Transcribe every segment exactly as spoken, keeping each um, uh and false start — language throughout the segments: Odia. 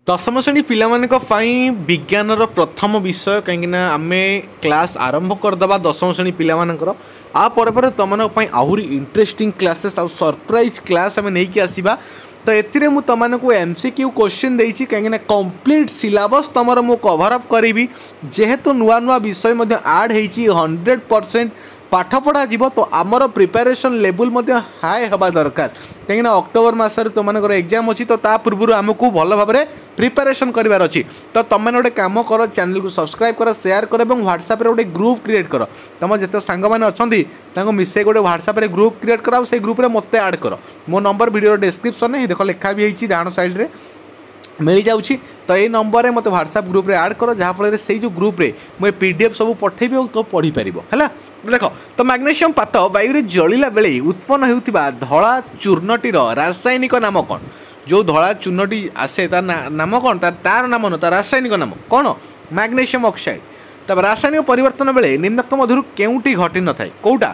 ଦଶମ ଶ୍ରେଣୀ ପିଲାମାନଙ୍କ ପାଇଁ ବିଜ୍ଞାନର ପ୍ରଥମ ବିଷୟ କାହିଁକିନା ଆମେ କ୍ଲାସ୍ ଆରମ୍ଭ କରିଦେବା ଦଶମ ଶ୍ରେଣୀ ପିଲାମାନଙ୍କର ଆ ପରେ ପରେ ତୁମମାନଙ୍କ ପାଇଁ ଆହୁରି ଇଣ୍ଟରେଷ୍ଟିଂ କ୍ଲାସେସ୍ ଆଉ ସରପ୍ରାଇଜ୍ କ୍ଲାସ୍ ଆମେ ନେଇକି ଆସିବା ତ ଏଥିରେ ମୁଁ ତୁମମାନଙ୍କୁ ଏମ୍ ସି କ୍ୟୁ କୋଶ୍ଚିନ୍ ଦେଇଛି କାହିଁକିନା କମ୍ପ୍ଲିଟ୍ ସିଲାବସ୍ ତୁମର ମୁଁ କଭର୍ ଅପ୍ କରିବି ଯେହେତୁ ନୂଆ ନୂଆ ବିଷୟ ମଧ୍ୟ ଆଡ଼୍ ହେଇଛି ହଣ୍ଡ୍ରେଡ଼ ପରସେଣ୍ଟ ପାଠ ପଢ଼ାଯିବ ତ ଆମର ପ୍ରିପାରେସନ୍ ଲେବୁଲ୍ ମଧ୍ୟ ହାଇ ହେବା ଦରକାର କାହିଁକିନା ଅକ୍ଟୋବର ମାସରେ ତୁମମାନଙ୍କର ଏକ୍ଜାମ୍ ଅଛି ତ ତା ପୂର୍ବରୁ ଆମକୁ ଭଲ ଭାବରେ ପ୍ରିପାରେସନ୍ କରିବାର ଅଛି ତ ତୁମେମାନେ ଗୋଟେ କାମ କର ଚ୍ୟାନେଲକୁ ସବସ୍କ୍ରାଇବ୍ କର ସେୟାର କର ଏବଂ ହ୍ୱାଟ୍ସଆପ୍ରେ ଗୋଟେ ଗ୍ରୁପ୍ କ୍ରିଏଟ୍ କର ତୁମ ଯେତେ ସାଙ୍ଗମାନେ ଅଛନ୍ତି ତାଙ୍କୁ ମିଶାଇ ଗୋଟେ ହ୍ୱାଟ୍ସଆପ୍ରେ ଗ୍ରୁପ୍ କ୍ରିଏଟ୍ କର ଆଉ ସେଇ ଗ୍ରୁପ୍ରେ ମୋତେ ଆଡ଼୍ କର ମୋ ନମ୍ବର ଭିଡ଼ିଓର ଡେସ୍କ୍ରିପ୍ସନ୍ରେ ଦେଖ ଲେଖା ବି ହେଇଛି ଡାହାଣ ସାଇଡ଼୍ରେ ମିଳିଯାଉଛି ତ ଏଇ ନମ୍ବରରେ ମୋତେ ହ୍ୱାଟ୍ସଆପ୍ ଗ୍ରୁପ୍ରେ ଆଡ଼୍ କର ଯାହାଫଳରେ ସେଇ ଯେଉଁ ଗ୍ରୁପ୍ରେ ମୁଁ ଏ ପି ଡି ଏଫ୍ ସବୁ ପଠେଇବି ଆଉ ତ ପଢ଼ିପାରିବ ହେଲା ଦେଖ ତ ମ୍ୟାଗ୍ନେସିୟମ୍ ପାତ ବାୟୁରେ ଜଳିଲା ବେଳେ ଉତ୍ପନ୍ନ ହେଉଥିବା ଧଳା ଚୂର୍ଣ୍ଣଟିର ରାସାୟନିକ ନାମ କ'ଣ ଯେଉଁ ଧଳା ଚୂର୍ଣ୍ଣଟି ଆସେ ତା ନାମ କ'ଣ ତା ତାର ନାମ ନୁହଁ ତା ରାସାୟନିକ ନାମ କ'ଣ ମ୍ୟାଗ୍ନେସିୟମ୍ ଅକ୍ସାଇଡ୍ ତାପରେ ରାସାୟନିକ ପରିବର୍ତ୍ତନ ବେଳେ ନିମ୍ନୋକ୍ତ ମଧ୍ୟରୁ କେଉଁଟି ଘଟିନଥାଏ କେଉଁଟା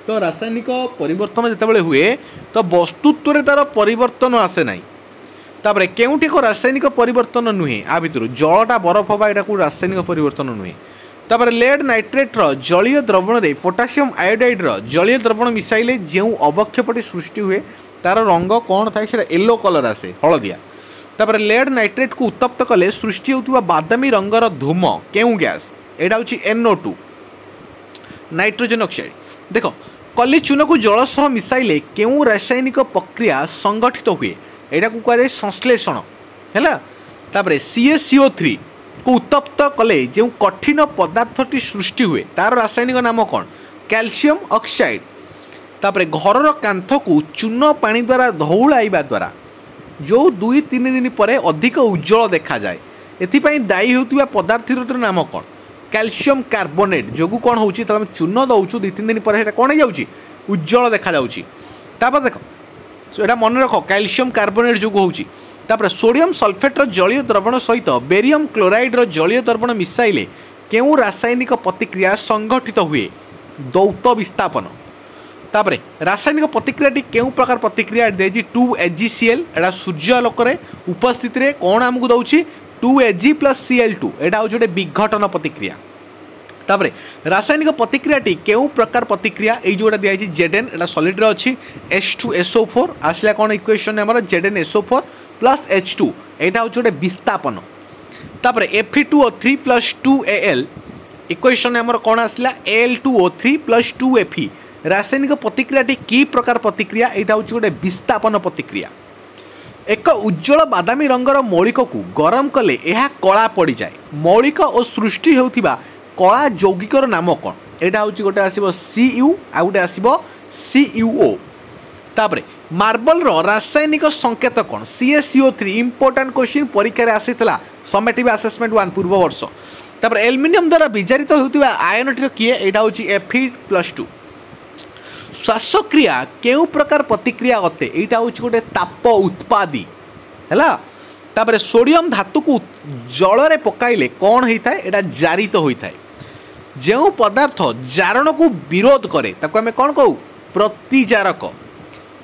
ତ ରାସାୟନିକ ପରିବର୍ତ୍ତନ ଯେତେବେଳେ ହୁଏ ତ ବସ୍ତୁତ୍ୱରେ ତାର ପରିବର୍ତ୍ତନ ଆସେ ନାହିଁ ତାପରେ କେଉଁଟି ଏକ ରାସାୟନିକ ପରିବର୍ତ୍ତନ ନୁହେଁ ଆ ଭିତରୁ ଜଳଟା ବରଫ ହେବା ଏଇଟାକୁ ରାସାୟନିକ ପରିବର୍ତ୍ତନ ନୁହେଁ ତାପରେ ଲେଡ୍ ନାଇଟ୍ରେଟ୍ର ଜଳୀୟ ଦ୍ରବଣରେ ପୋଟାସିୟମ୍ ଆୟୋଡାଇଡ୍ର ଜଳୀୟ ଦ୍ରବଣ ମିଶାଇଲେ ଯେଉଁ ଅବକ୍ଷେପଟି ସୃଷ୍ଟି ହୁଏ ତାର ରଙ୍ଗ କ'ଣ ଥାଏ ସେଇଟା ୟେଲୋ କଲର୍ ଆସେ ହଳଦିଆ ତାପରେ ଲେଡ୍ ନାଇଟ୍ରେଟ୍କୁ ଉତ୍ତପ୍ତ କଲେ ସୃଷ୍ଟି ହେଉଥିବା ବାଦାମୀ ରଙ୍ଗର ଧୂମ କେଉଁ ଗ୍ୟାସ୍ ଏଇଟା ହେଉଛି ଏନ୍ଓ ଟୁ ନାଇଟ୍ରୋଜେନ୍ ଅକ୍ସାଇଡ୍ ଦେଖ କଲି ଚୂନକୁ ଜଳ ସହ ମିଶାଇଲେ କେଉଁ ରାସାୟନିକ ପ୍ରକ୍ରିୟା ସଂଗଠିତ ହୁଏ ଏଇଟାକୁ କୁହାଯାଏ ସଂଶ୍ଳେଷଣ ହେଲା ତାପରେ C A C O three କୁ ଉତ୍ତପ୍ତ କଲେ ଯେଉଁ କଠିନ ପଦାର୍ଥଟି ସୃଷ୍ଟି ହୁଏ ତାର ରାସାୟନିକ ନାମ କ'ଣ କ୍ୟାଲସିୟମ୍ ଅକ୍ସାଇଡ୍ ତାପରେ ଘରର କାନ୍ଥକୁ ଚୂନ ପାଣି ଦ୍ୱାରା ଧଉଳାଇବା ଦ୍ୱାରା ଯେଉଁ ଦୁଇ ତିନି ଦିନ ପରେ ଅଧିକ ଉଜ୍ଜଳ ଦେଖାଯାଏ ଏଥିପାଇଁ ଦାୟୀ ହେଉଥିବା ପଦାର୍ଥର ନାମ କ'ଣ କ୍ୟାଲସିୟମ୍ କାର୍ବୋନେଟ୍ ଯୋଗୁଁ କ'ଣ ହେଉଛି ଯେତେବେଳେ ଆମେ ଚୂନ ଦେଉଛୁ ଦୁଇ ତିନି ଦିନ ପରେ ସେଇଟା କ'ଣ ହେଇଯାଉଛି ଉଜ୍ଜଳ ଦେଖାଯାଉଛି ତାପରେ ଦେଖ ଏଇଟା ମନେ ରଖ କ୍ୟାଲସିୟମ୍ କାର୍ବୋନେଟ୍ ଯୋଗୁଁ ହେଉଛି ତାପରେ ସୋଡ଼ିୟମ୍ ସଲଫେଟ୍ର ଜଳୀୟ ଦ୍ରବଣ ସହିତ ବେରିୟମ୍ କ୍ଲୋରାଇଡ୍ର ଜଳୀୟ ଦ୍ରବଣ ମିଶାଇଲେ କେଉଁ ରାସାୟନିକ ପ୍ରତିକ୍ରିୟା ସଂଗଠିତ ହୁଏ ଦୌତ ବିସ୍ଥାପନ ତାପରେ ରାସାୟନିକ ପ୍ରତିକ୍ରିୟାଟି କେଉଁ ପ୍ରକାର ପ୍ରତିକ୍ରିୟା ଦେଇଛି ଟୁ ଏଜିସିଏଲ୍ ଏଇଟା ସୂର୍ଯ୍ୟ ଆଲୋକରେ ଉପସ୍ଥିତିରେ କ'ଣ ଆମକୁ ଦେଉଛି two Ag plus Cl two ଏଇଟା ହେଉଛି ଗୋଟେ ବିଘଟନ ପ୍ରତିକ୍ରିୟା ତାପରେ ରାସାୟନିକ ପ୍ରତିକ୍ରିୟାଟି କେଉଁ ପ୍ରକାର ପ୍ରତିକ୍ରିୟା ଏଇ ଯେଉଁଟା ଦିଆଯାଇଛି ଜେଡ୍ ଏନ୍ ଏଇଟା ସଲିଡ୍ରେ ଅଛି ଏସ୍ ଟୁ ଏସ୍ଓ ଫୋର୍ ଆସିଲା କ'ଣ ଇକ୍ୱେସନ୍ ଆମର Z N SO four plus H two ଏଇଟା ହେଉଛି ଗୋଟେ ବିସ୍ଥାପନ ତାପରେ F two O three plus two A L equation ଆମର କ'ଣ ଆସିଲା Al two O three plus two F ରାସାୟନିକ ପ୍ରତିକ୍ରିୟାଟି କି ପ୍ରକାର ପ୍ରତିକ୍ରିୟା ଏଇଟା ହେଉଛି ଗୋଟେ ବିସ୍ଥାପନ ପ୍ରତିକ୍ରିୟା ଏକ ଉଜ୍ଜଳ ବାଦାମୀ ରଙ୍ଗର ମୌଳିକକୁ ଗରମ କଲେ ଏହା କଳା ପଡ଼ିଯାଏ ମୌଳିକ ଓ ସୃଷ୍ଟି ହେଉଥିବା କଳା ଯୌଗିକର ନାମ କ'ଣ ଏଇଟା ହେଉଛି ଗୋଟେ ଆସିବ ସି ୟୁ ଆଉ ଗୋଟେ ଆସିବ ସି ୟୁ ଓ ତାପରେ ମାର୍ବଲର ରାସାୟନିକ ସଂକେତ କ'ଣ C A C O three important question ପରୀକ୍ଷାରେ ଆସିଥିଲା ସମେଟିଭ୍ ଆସେସମେଣ୍ଟ ୱାନ୍ ପୂର୍ବ ବର୍ଷ ତାପରେ ଆଲୁମିନିୟମ ଦ୍ୱାରା ବିଜାରିତ ହେଉଥିବା ଆୟନଟିର କିଏ ଏଇଟା ହେଉଛି ଏଫ୍ ଇ ପ୍ଲସ୍ ଟୁ ଶ୍ୱାସକ୍ରିୟା କେଉଁ ପ୍ରକାର ପ୍ରତିକ୍ରିୟା ଅଟେ ଏଇଟା ହେଉଛି ଗୋଟେ ତାପ ଉତ୍ପାଦୀ ହେଲା ତାପରେ ସୋଡ଼ିୟମ୍ ଧାତୁକୁ ଜଳରେ ପକାଇଲେ କ'ଣ ହେଇଥାଏ ଏଇଟା ଜାରିତ ହୋଇଥାଏ ଯେଉଁ ପଦାର୍ଥ ଜାରଣକୁ ବିରୋଧ କରେ ତାକୁ ଆମେ କ'ଣ କହୁ ପ୍ରତିଜାରକ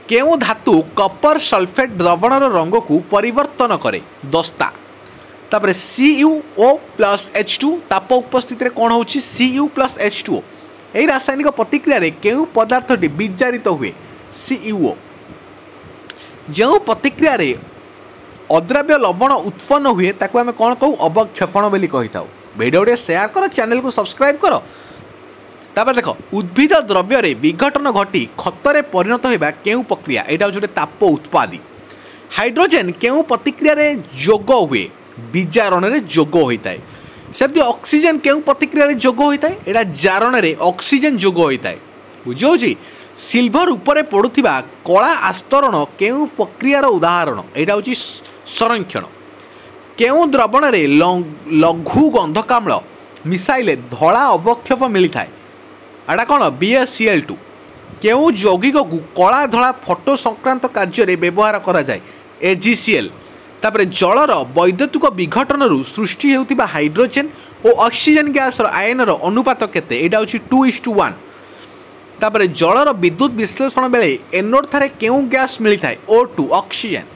କେଉଁ ଧାତୁ କପର ସଲଫେଟ୍ ଦ୍ରବଣର ରଙ୍ଗକୁ ପରିବର୍ତ୍ତନ କରେ ଦସ୍ତା ତାପରେ C U O plus H two ତାପ ଉପସ୍ଥିତିରେ କ'ଣ ହେଉଛି C U plus H two O ଏହି ରାସାୟନିକ ପ୍ରତିକ୍ରିୟାରେ କେଉଁ ପଦାର୍ଥଟି ବିଜାରିତ ହୁଏ ସି ୟୁ ଓ ଯେଉଁ ପ୍ରତିକ୍ରିୟାରେ ଅଦ୍ରାବ୍ୟ ଲବଣ ଉତ୍ପନ୍ନ ହୁଏ ତାକୁ ଆମେ କ'ଣ କହୁ ଅବକ୍ଷେପଣ ବୋଲି କହିଥାଉ ଭିଡ଼ିଓ ଟିକେ ସେୟାର କର ଚ୍ୟାନେଲକୁ ସବସ୍କ୍ରାଇବ୍ କର ତାପରେ ଦେଖ ଉଦ୍ଭିଦ ଦ୍ରବ୍ୟରେ ବିଘଟନ ଘଟି ଖତରେ ପରିଣତ ହେବା କେଉଁ ପ୍ରକ୍ରିୟା ଏଇଟା ହେଉଛି ଗୋଟେ ତାପ ଉତ୍ପାଦୀ ହାଇଡ୍ରୋଜେନ୍ କେଉଁ ପ୍ରତିକ୍ରିୟାରେ ଯୋଗ ହୁଏ ବିଜାରଣରେ ଯୋଗ ହୋଇଥାଏ ସେମିତି ଅକ୍ସିଜେନ୍ କେଉଁ ପ୍ରତିକ୍ରିୟାରେ ଯୋଗ ହୋଇଥାଏ ଏଇଟା ଜାରଣରେ ଅକ୍ସିଜେନ୍ ଯୋଗ ହୋଇଥାଏ ବୁଝିହେଉଛି ସିଲଭର ଉପରେ ପଡ଼ୁଥିବା କଳା ଆସ୍ତରଣ କେଉଁ ପ୍ରକ୍ରିୟାର ଉଦାହରଣ ଏଇଟା ହେଉଛି ସଂରକ୍ଷଣ କେଉଁ ଦ୍ରବଣରେ ଲଘୁ ଗନ୍ଧକାମ୍ଳ ମିଶାଇଲେ ଧଳା ଅବକ୍ଷେପ ମିଳିଥାଏ ଏଇଟା କ'ଣ B S C L two କେଉଁ ଯୌଗିକକୁ କଳା ଧଳା ଫଟୋ ସଂକ୍ରାନ୍ତ କାର୍ଯ୍ୟରେ ବ୍ୟବହାର କରାଯାଏ ଏ ଜି ସି ଏଲ୍ ତାପରେ ଜଳର ବୈଦ୍ୟୁତିକ ବିଘଟନରୁ ସୃଷ୍ଟି ହେଉଥିବା ହାଇଡ୍ରୋଜେନ୍ ଓ ଅକ୍ସିଜେନ୍ ଗ୍ୟାସ୍ର ଆୟନର ଅନୁପାତ କେତେ ଏଇଟା ହେଉଛି ଟୁ ଇସ୍ ଟୁ ୱାନ୍ ତାପରେ ଜଳର ବିଦ୍ୟୁତ ବିଶ୍ଳେଷଣ ବେଳେ ଏନୋଡ୍ ଠାରେ କେଉଁ ଗ୍ୟାସ୍ ମିଳିଥାଏ ଓ ଟୁ ଅକ୍ସିଜେନ୍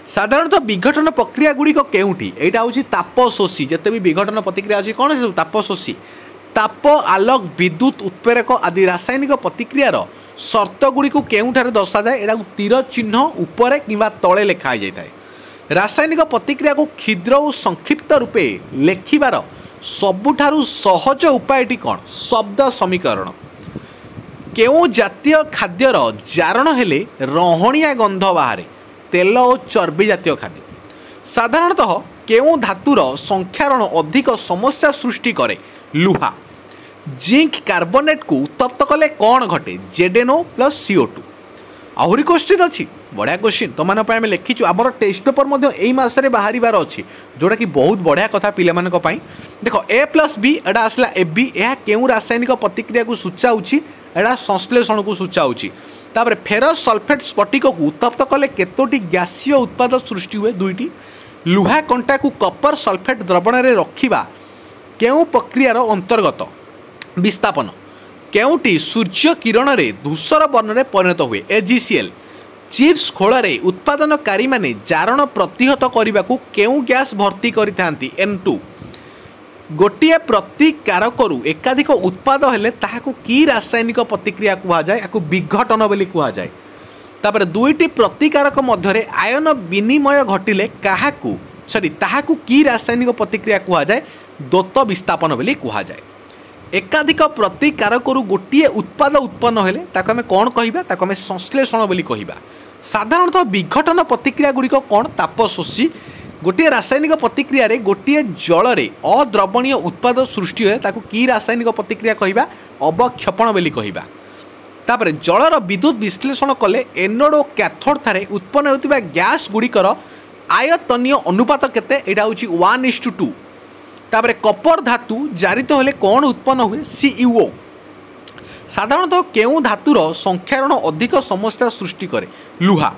ସାଧାରଣତଃ ବିଘଟନ ପ୍ରକ୍ରିୟା ଗୁଡ଼ିକ କେଉଁଠି ଏଇଟା ହେଉଛି ତାପଶୋଷୀ ଯେତେ ବି ବିଘଟନ ପ୍ରତିକ୍ରିୟା ଅଛି କ'ଣ ସେ ତାପଶୋଷୀ ତାପ ଆଲୋକ ବିଦ୍ୟୁତ ଉତ୍ପ୍ରେରକ ଆଦି ରାସାୟନିକ ପ୍ରତିକ୍ରିୟାର ସର୍ତ୍ତ ଗୁଡ଼ିକୁ କେଉଁଠାରେ ଦର୍ଶାଯାଏ ଏଟାକୁ ତୀର ଚିହ୍ନ ଉପରେ କିମ୍ବା ତଳେ ଲେଖା ହେଇଯାଇଥାଏ ରାସାୟନିକ ପ୍ରତିକ୍ରିୟାକୁ କ୍ଷୁଦ୍ର ଓ ସଂକ୍ଷିପ୍ତ ରୂପେ ଲେଖିବାର ସବୁଠାରୁ ସହଜ ଉପାୟଟି କ'ଣ ଶବ୍ଦ ସମୀକରଣ କେଉଁ ଜାତୀୟ ଖାଦ୍ୟର ଜାରଣ ହେଲେ ରହଣିଆ ଗନ୍ଧ ବାହାରେ ତେଲ ଓ ଚର୍ବି ଜାତୀୟ ଖାଦ୍ୟ ସାଧାରଣତଃ କେଉଁ ଧାତୁର ସଂକ୍ଷାରଣ ଅଧିକ ସମସ୍ୟା ସୃଷ୍ଟି କରେ ଲୁହା ଜିଙ୍କ କାର୍ବୋନେଟ୍କୁ ଉତ୍ତପ୍ତ କଲେ କ'ଣ ଘଟେ ଜେଡେନୋ ପ୍ଲସ୍ ସିଓ ଟୁ ଆହୁରି କୋଶ୍ଚିନ୍ ଅଛି ବଢ଼ିଆ କୋଶ୍ଚିନ୍ ତୁମମାନଙ୍କ ପାଇଁ ଆମେ ଲେଖିଛୁ ଆମର ଟେଷ୍ଟ ପେପର୍ ମଧ୍ୟ ଏଇ ମାସରେ ବାହାରିବାର ଅଛି ଯେଉଁଟାକି ବହୁତ ବଢ଼ିଆ କଥା ପିଲାମାନଙ୍କ ପାଇଁ ଦେଖ ଏ ପ୍ଲସ୍ ବି ଏଇଟା ଆସିଲା ଏ ବି ଏହା କେଉଁ ରାସାୟନିକ ପ୍ରତିକ୍ରିୟାକୁ ସୂଚାଉଛି ଏଇଟା ସଂଶ୍ଳେଷଣକୁ ସୂଚାଉଛି ତାପରେ ଫେରସ୍ ସଲଫେଟ୍ ସ୍ଫଟିକକୁ ଉତ୍ତପ୍ତ କଲେ କେତୋଟି ଗ୍ୟାସୀୟ ଉତ୍ପାଦ ସୃଷ୍ଟି ହୁଏ ଦୁଇଟି ଲୁହା କଣ୍ଟାକୁ କପର ସଲଫେଟ୍ ଦ୍ରବଣରେ ରଖିବା କେଉଁ ପ୍ରକ୍ରିୟାର ଅନ୍ତର୍ଗତ ବିସ୍ଥାପନ କେଉଁଟି ସୂର୍ଯ୍ୟ କିରଣରେ ଧୂସର ବର୍ଣ୍ଣରେ ପରିଣତ ହୁଏ ଏଜିସିଏଲ୍ ଚିପ୍ସ ଖୋଳରେ ଉତ୍ପାଦନକାରୀମାନେ ଜାରଣ ପ୍ରତିହତ କରିବାକୁ କେଉଁ ଗ୍ୟାସ୍ ଭର୍ତ୍ତି କରିଥାନ୍ତି ଏନ୍ ଟୁ ଗୋଟିଏ ପ୍ରତିକାରକରୁ ଏକାଧିକ ଉତ୍ପାଦ ହେଲେ ତାହାକୁ କି ରାସାୟନିକ ପ୍ରତିକ୍ରିୟା କୁହାଯାଏ ଏହାକୁ ବିଘଟନ ବୋଲି କୁହାଯାଏ ତାପରେ ଦୁଇଟି ପ୍ରତିକାରକ ମଧ୍ୟରେ ଆୟନ ବିନିମୟ ଘଟିଲେ କାହାକୁ ସରି ତାହାକୁ କି ରାସାୟନିକ ପ୍ରତିକ୍ରିୟା କୁହାଯାଏ ଦ୍ୱୈତ ବିସ୍ଥାପନ ବୋଲି କୁହାଯାଏ ଏକାଧିକ ପ୍ରତିକାରକରୁ ଗୋଟିଏ ଉତ୍ପାଦ ଉତ୍ପନ୍ନ ହେଲେ ତାକୁ ଆମେ କ'ଣ କହିବା ତାକୁ ଆମେ ସଂଶ୍ଳେଷଣ ବୋଲି କହିବା ସାଧାରଣତଃ ବିଘଟନ ପ୍ରତିକ୍ରିୟା ଗୁଡ଼ିକ କ'ଣ ତାପଶୋଷୀ ଗୋଟିଏ ରାସାୟନିକ ପ୍ରତିକ୍ରିୟାରେ ଗୋଟିଏ ଜଳରେ ଅଦ୍ରବଣୀୟ ଉତ୍ପାଦ ସୃଷ୍ଟି ହୁଏ ତାକୁ କି ରାସାୟନିକ ପ୍ରତିକ୍ରିୟା କହିବା ଅବକ୍ଷେପଣ ବୋଲି କହିବା ତାପରେ ଜଳର ବିଦ୍ୟୁତ ବିଶ୍ଳେଷଣ କଲେ ଏନୋଡ୍ ଓ କ୍ୟାଥୋଡ୍ ଠାରେ ଉତ୍ପନ୍ନ ହେଉଥିବା ଗ୍ୟାସ୍ ଗୁଡ଼ିକର ଆୟତନୀୟ ଅନୁପାତ କେତେ ଏଇଟା ହେଉଛି ୱାନ୍ ଇସ୍ ଟୁ ଟୁ ତାପରେ କପର ଧାତୁ ଜାରିତ ହେଲେ କ'ଣ ଉତ୍ପନ୍ନ ହୁଏ ସିୟୁଓ ସାଧାରଣତଃ କେଉଁ ଧାତୁର ସଂକ୍ଷାରଣ ଅଧିକ ସମସ୍ୟା ସୃଷ୍ଟି କରେ ଲୁହା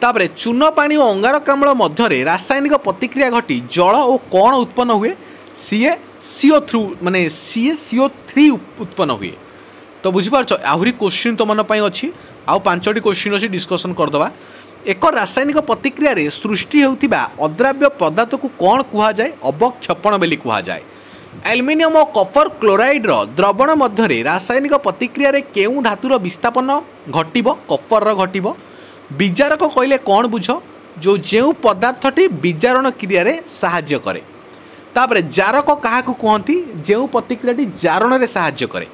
ତାପରେ ଚୂନ ପାଣି ଓ ଅଙ୍ଗାରକାମ୍ଳ ମଧ୍ୟରେ ରାସାୟନିକ ପ୍ରତିକ୍ରିୟା ଘଟି ଜଳ ଓ କ'ଣ ଉତ୍ପନ୍ନ ହୁଏ ସିଏ ସିଓ ଥ୍ରୁ ମାନେ ସିଏ ସିଓ ଥ୍ରୀ ଉତ୍ପନ୍ନ ହୁଏ ତ ବୁଝିପାରୁଛ ଆହୁରି କୋଶ୍ଚିନ୍ ତୁମମାନଙ୍କ ପାଇଁ ଅଛି ଆଉ ପାଞ୍ଚଟି କୋଶ୍ଚିନ୍ ଅଛି ଡିସ୍କସନ୍ କରିଦେବା ଏକ ରାସାୟନିକ ପ୍ରତିକ୍ରିୟାରେ ସୃଷ୍ଟି ହେଉଥିବା ଅଦ୍ରାବ୍ୟ ପଦାର୍ଥକୁ କ'ଣ କୁହାଯାଏ ଅବକ୍ଷେପଣ ବୋଲି କୁହାଯାଏ ଆଲୁମିନିୟମ ଓ କପର କ୍ଲୋରାଇଡ୍ର ଦ୍ରବଣ ମଧ୍ୟରେ ରାସାୟନିକ ପ୍ରତିକ୍ରିୟାରେ କେଉଁ ଧାତୁର ବିସ୍ଥାପନ ଘଟିବ କପରର ଘଟିବ ବିଜାରକ କହିଲେ କ'ଣ ବୁଝ ଯେଉଁ ଯେଉଁ ପଦାର୍ଥଟି ବିଜାରଣ କ୍ରିୟାରେ ସାହାଯ୍ୟ କରେ ତାପରେ ଜାରକ କାହାକୁ କୁହନ୍ତି ଯେଉଁ ପ୍ରତିକ୍ରିୟାଟି ଜାରଣରେ ସାହାଯ୍ୟ କରେ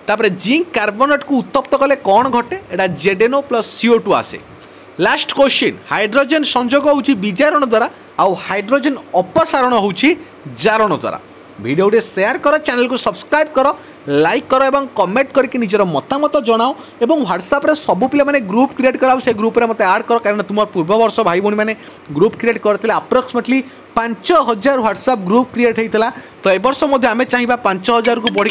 ତାପରେ ଜିଙ୍କ କାର୍ବୋନେଟ୍କୁ ଉତ୍ତପ୍ତ କଲେ କ'ଣ ଘଟେ ଏଇଟା ଜେଡେନୋ ପ୍ଲସ୍ ସିଓ ଟୁ ଆସେ ଲାଷ୍ଟ କୋଶ୍ଚିନ୍ ହାଇଡ୍ରୋଜେନ୍ ସଂଯୋଗ ହେଉଛି ବିଜାରଣ ଦ୍ୱାରା ଆଉ ହାଇଡ୍ରୋଜେନ୍ ଅପସାରଣ ହେଉଛି ଜାରଣ ଦ୍ୱାରା ଭିଡ଼ିଓ ଟିକେ ସେୟାର କର ଚ୍ୟାନେଲକୁ ସବସ୍କ୍ରାଇବ୍ କର ଲାଇକ୍ କର ଏବଂ କମେଣ୍ଟ କରିକି ନିଜର ମତାମତ ଜଣାଅ ଏବଂ ହ୍ୱାଟ୍ସଆପ୍ରେ ସବୁ ପିଲାମାନେ ଗ୍ରୁପ୍ କ୍ରିଏଟ୍ କର ଆଉ ସେ ଗ୍ରୁପ୍ରେ ମୋତେ ଆଡ଼୍ କର କାରଣ ତୁମର ପୂର୍ବ ବର୍ଷ ଭାଇ ଭଉଣୀମାନେ ଗ୍ରୁପ୍ କ୍ରିଏଟ୍ କରିଥିଲେ ଆପ୍ରୋକ୍ସିମେଟଲି ପାଞ୍ଚ ହଜାର ହ୍ୱାଟ୍ସଆପ୍ ଗ୍ରୁପ୍ କ୍ରିଏଟ୍ ହେଇଥିଲା ତ ଏ ବର୍ଷ ମଧ୍ୟ ଆମେ ଚାହିଁବା ପାଞ୍ଚ ହଜାରକୁ ବଢ଼ିକି